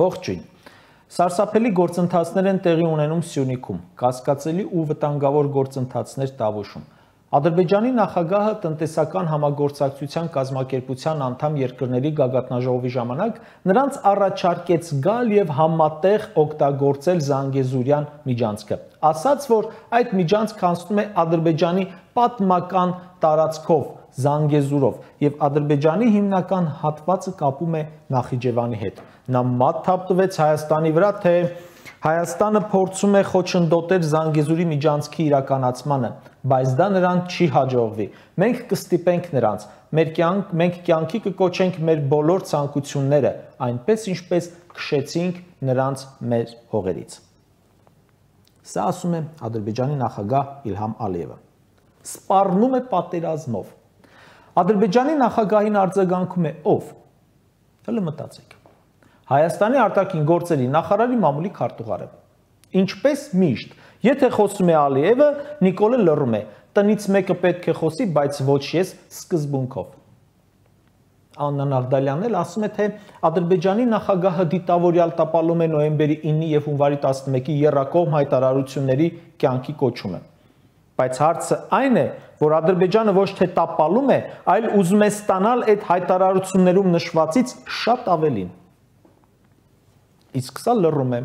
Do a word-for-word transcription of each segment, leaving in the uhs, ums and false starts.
Ողջույն։ Սարսափելի գործընթացներ են տեղի ունենում Սյունիքում, կասկածելի ու վտանգավոր գործընթացներ Տավուշում։ Ադրբեջանի նախագահը տնտեսական համագործակցության կազմակերպության անդամ երկրների գագաթնաժողովի ժամանակ նրանց առաջարկեց գալ եւ համատեղ օգտագործել Զանգեզուրյան միջանցքը։ Ասաց, որ այդ միջանցքը անցնում է Ադրբեջանի պատմական տարածքով, Զանգեզուրով, եւ Ադրբեջանի հիմնական հատվածը կապում է Նախիջևանի հետ։ Նա մատ թափտվեց Հայաստանի վրա, թե Հայաստանը փորձում է խոչընդոտել Զանգեզուրի միջանցքի իրականացմանը, բայց դա նրան չի հաջողվի։ Մենք կստիպենք նրանց, մեր կյանք, մենք կյանքի կկոչենք մեր բոլոր ցանկությունները, այնպես ինչպես քշեցինք նրանց մեր հողերից։ Սա ասում է Ադրբեջանի նախագահ Իլհամ Ալիևը։ Սպառնում է պատերազմով։ Ադրբեջանի նախագահին արձագանքում է ով։ Հələ մտածեք։ Հայաստանի արտաքին գործերի նախարարի մամուլի քարտուղարը։ Ինչպես միշտ, եթե խոսում է Ալիևը, Նիկոլը լռում է։ Տնից մեկը պետք է խոսի, բայց ոչ ես սկզբունքով։ Աննա Նաղդալյանն էլ ասում է, թե Ադրբեջանի նախագահը դիտավորյալ տապալում է նոյեմբերի ինը եւ հունվարի տասնմեկի եռակողմ հայտարարությունների կյանքի կոչումը։ Բայց հարցը այն է, որ Ադրբեջանը ոչ թե տապալում է, այլ ուզում է ստանալ այդ հայտարարություններում նշվածից շատ ավելին։ Իսկ սա լռում է։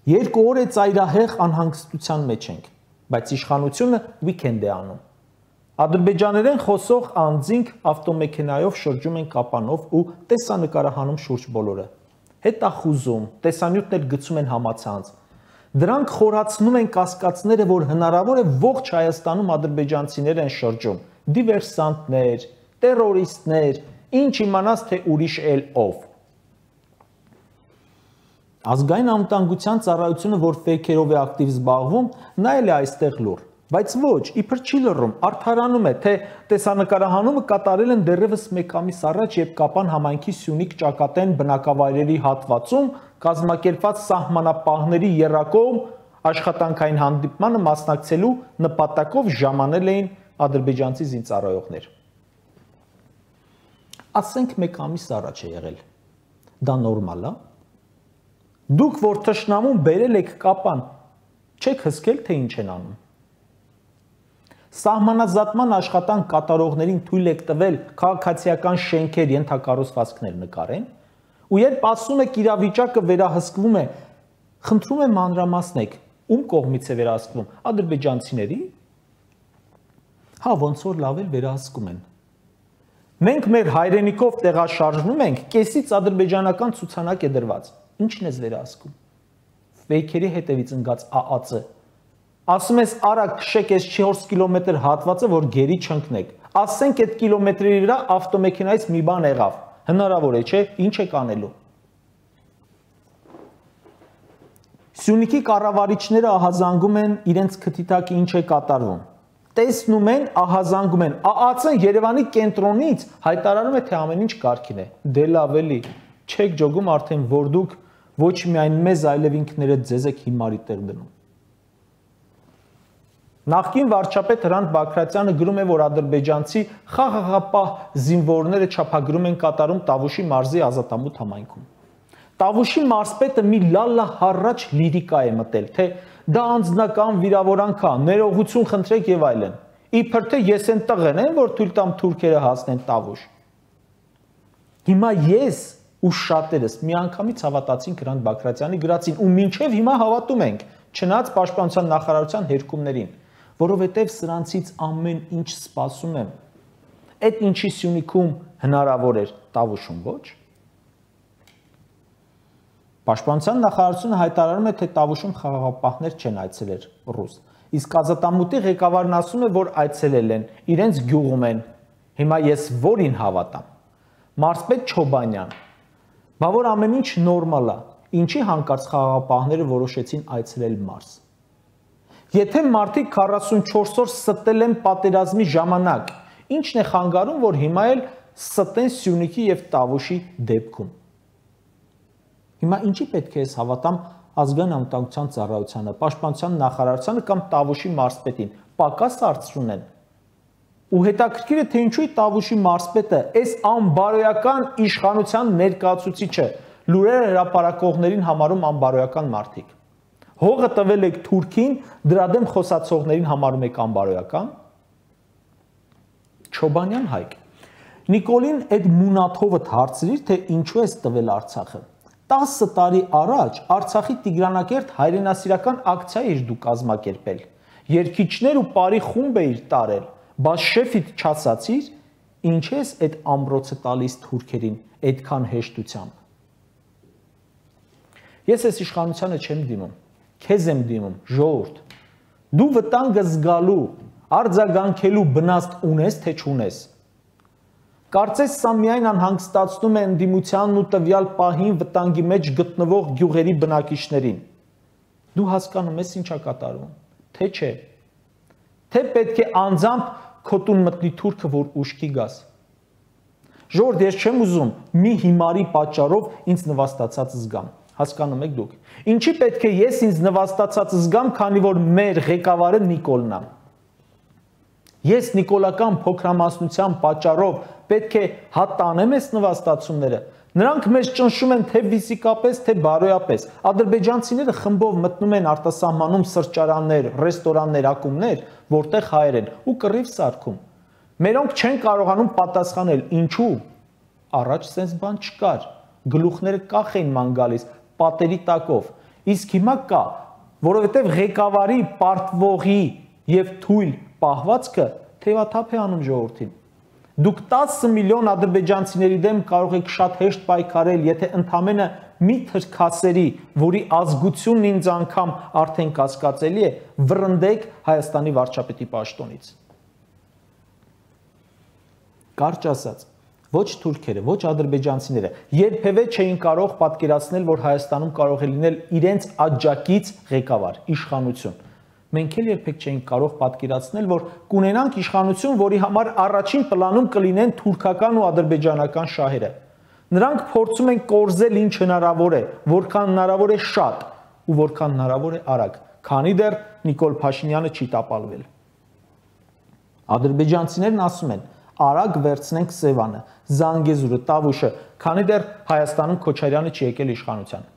Երկու օր է ծայրահեղ անհանգստության մեջ ենք, բայց իշխանությունը weekend է անում։ Ադրբեջաներեն խոսող անձինք ավտոմեքենայով շրջում են կապանով ու տեսանկարահանում շուրջ բոլորը։ Հետախուզում, տեսանյութն էլ գցում են համացանց։ Դրանք խորացնում են կասկածները, որ հնարավոր է ողջ Հայաստանում ադրբեջանցիներ են շրջում, դիվերսանտներ, տերորիստներ, ինչ իմանաս, թե ուրիշ էլ ով։ Ազգային անվտանգության ծառայությունը, որ ֆեյքերով է ակտիվ զբաղվում, նա էլ է այստեղ լուր, բայց ոչ, իբր չի լռում, արդարանում է, թե տեսանկարահանումը կատարել են դեռևս մեկ ամիս առաջ, երբ Կապան համայնքի Սյունիք Ճակատեն բնակավայրերի հատվածում կազմակերպված սահմանապահների եռակողմ աշխատանքային հանդիպմանը մասնակցելու նպատակով ժամանել էին ադրբեջանցի զինծառայողներ։ Ասենք մեկ ամիս առաջ է եղել։ Դա նորմալ է։ Դուք, որ թշնամուն բերել եք Կապան, չեք հսկել, թե ինչ են անում։ Սահմանազատման աշխատանք կատարողներին թույլ եք տվել քաղաքացիական շենքեր, ենթակառուցվածքներ նկարեն, ու երբ ասում եք իրավիճակը վերահսկվում է, խնդրում եմ մանրամասնեք, ում կողմից է վերահսկվում, ադրբեջանցիների։ Հա, ոնց որ լավ էլ վերահսկում են։ Մենք մեր հայրենիքով տեղաշարժվում ենք, կեսից ադրբեջանական ցուցանակ է դրված։ Ինչն ես վերահսկում։ Ֆեյքերի հետևից ընկած ԱԱՑ-ը։ Ասում ես արագ քշեք այս չորս կիլոմետր հատվածը, որ գերի չընկնեք։ Ասենք այդ կիլոմետրի վրա ավտոմեքենայից մի բան եղավ։ Հնարավոր է, չէ՞, ինչ եք անելու։ Սյունիքի կառավարիչները ահազանգում են իրենց քթիթակի ինչ է կատարվում։ Տեսնում են, ահազանգում են։ ԱԱՑ-ն Երևանի կենտրոնից հայտարարում է, թե ամեն ինչ կարգին է։ Դե լավ էլի, չեք ջոգում արդեն, որ դուք ոչ միայն մեզ, այլև ինքներդ ձեզ եք հիմարի տեղ դնում։ Նախկին վարչապետ Հրանտ Բագրատյանը գրում է, որ ադրբեջանցի խաղաղապահ զինվորները չափագրում են կատարում Տավուշի մարզի ազատամուտ համայնքում։ Տավուշի մարզպետը մի լալլա հառաչ լիրիկա է մտել, թե դա անձնական վիրավորանք է, ներողություն խնդրեք եւ այլն։ Իբր թե ես են տղեն եմ, որ թույլ տամ թուրքերը հասնեն Տավուշ։ Հիմա ես ու շատերս միանգամից հավատացինք Հրանտ Բագրատյանի գրածին ու մինչև հիմա հավատում ենք, չնայած պաշտպանության նախարարության հերկումներին, որովհետև սրանցից ամեն ինչ սպասում եմ։ Այդ ինչի Սյունիքում հնարավոր էր, Տավուշում ոչ։ Պաշտպանության նախարարությունը հայտարարում է, թե Տավուշում խաղաղապահներ չեն այցելել ռուս։ Իսկ ազատամուտի ղեկավարն ասում է, որ այցելել են, իրենց գյուղում են։ Հիմա ես որին հավատամ։ Մարզպետ Չոբանյան։ Բա որ ամեն ինչ նորմալ է, ինչի հանկարծ խաղաղապահները որոշեցին այցելել մարզ։ Եթե մարդիկ քառասունչորս օր ստել են պատերազմի ժամանակ, ինչն է խանգարում, որ հիմա էլ ստեն Սյունիքի եւ Տավուշի դեպքում։ Հիմա ինչի պետք է ես հավատամ ազգային անվտանգության ծառայությանը, պաշտպանության նախարարությանը կամ Տավուշի մարզպետին, պակաս արծրուն են։ Ու հետաքրքիր է, թե ինչու է Տավուշի մարզպետը այս անբարոյական իշխանության ներկայացուցիչը լուրերը հրապարակողներին համարում անբարոյական մարդիկ։ Հողը տվել եք Թուրքին, դրա դեմ խոսացողներին համարում եք անբարոյական։ Չոբանյան Հայկ։ Նիկոլին այդ մունաթովը հարցրիր, թե ինչու ես տվել Արցախը։ տասը տարի առաջ Արցախի Տիգրանակերտ հայրենասիրական ակցիա էր դու կազմակերպել։ Երկիչներ ու բարի խումբ էիր տարել, բայց շեֆիդ չասացիր, ինչ ես այդ ամրոցը տալիս թուրքերին այդքան հեշտությամբ։ Ես այս իշխանությանը չեմ դիմում, քեզ եմ դիմում, ժողովուրդ։ Դու վտանգը զգալու, արձագանքելու բնաստ ունես, թե չունես։ Կարծես սա միայն անհանգստացնում է ընդդիմությանն ու տվյալ պահին վտանգի մեջ գտնվող գյուղերի բնակիչներին։ Դու հասկանում ես ինչա կատարվում, թե չէ։ Թե պետք է անձամբ քո տուն մտնի թուրքը, որ ուշքի գաս։ Ժողովուրդ, ես չեմ ուզում մի հիմարի պատճառով ինձ նվաստացած զգամ։ Հասկանում եք դուք։ Ինչի պետք է ես ինձ նվաստացած զգամ, քանի որ մեր ղեկավարը Նիկոլն է։ Ես նիկոլական փոքրամասնության պատճառով պետք է հատանեմ այս նվաստացումները։ Նրանք մեզ ճնշում են թե ֆիզիկապես, թե բարոյապես։ Ադրբեջանցիները խմբով մտնում են արտասահմանում սրճարաններ, ռեստորաններ, ակումբներ, որտեղ հայեր են ու կռիվ սարքում։ Մերոնք չեն կարողանում պատասխանել, ինչու։ Առաջ sense բան չկար։ Գլուխները կախ էին ման գալիս, պատերի տակով։ Իսկ հիմա կա, որովհետև ղեկավարի, պարտվողի եւ թույլ պահվածքը թևաթափ է անում ժողովրդին։ Դուք տասը միլիոն ադրբեջանցիների դեմ կարող եք շատ հեշտ պայքարել, եթե ընդամենը մի թրքասերի, որի ազգությունն ինձ անգամ արդեն կասկածելի է, վռնդեք Հայաստանի վարչապետի պաշտոնից։ Կարճ ասած, ոչ թուրքերը, ոչ ադրբեջանցիները երբևէ չէին կարող պատկերացնել, որ Հայաստանում կարող է լինել իրենց աջակից ղեկավար, իշխանություն։ Մենք էլ երբեք չէինք կարող պատկերացնել, որ կունենանք իշխանություն, որի համար առաջին պլանում կլինեն թուրքական ու ադրբեջանական շահերը։ Նրանք փորձում են կորզել ինչ հնարավոր է, որքան հնարավոր է շատ ու որքան հնարավոր է արագ, քանի դեռ Նիկոլ Փաշինյանը չի տապալվել։ Ադրբեջանցիներն ասում են. արագ վերցնենք Սևանը, Զանգեզուրը, Տավուշը, քանի դեռ Հայաստանում Քոչարյանը չի եկել իշխանության։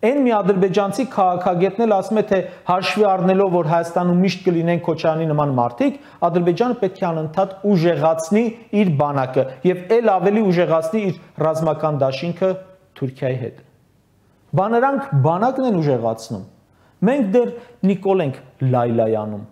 Այն մի ադրբեջանցի քաղաքագետն էլ ասում է, թե հաշվի առնելով, որ Հայաստանում միշտ կլինեն Քոչարյանի նման մարդիկ, Ադրբեջանը պետք է անընդհատ ուժեղացնի իր բանակը եւ ել ավելի ուժեղացնի իր ռազմական դաշինքը Թուրքիայի հետ։ Բա նրանք բանակն են ուժեղացնում։ Մենք դեռ Նիկոլ ենք լայլայանում։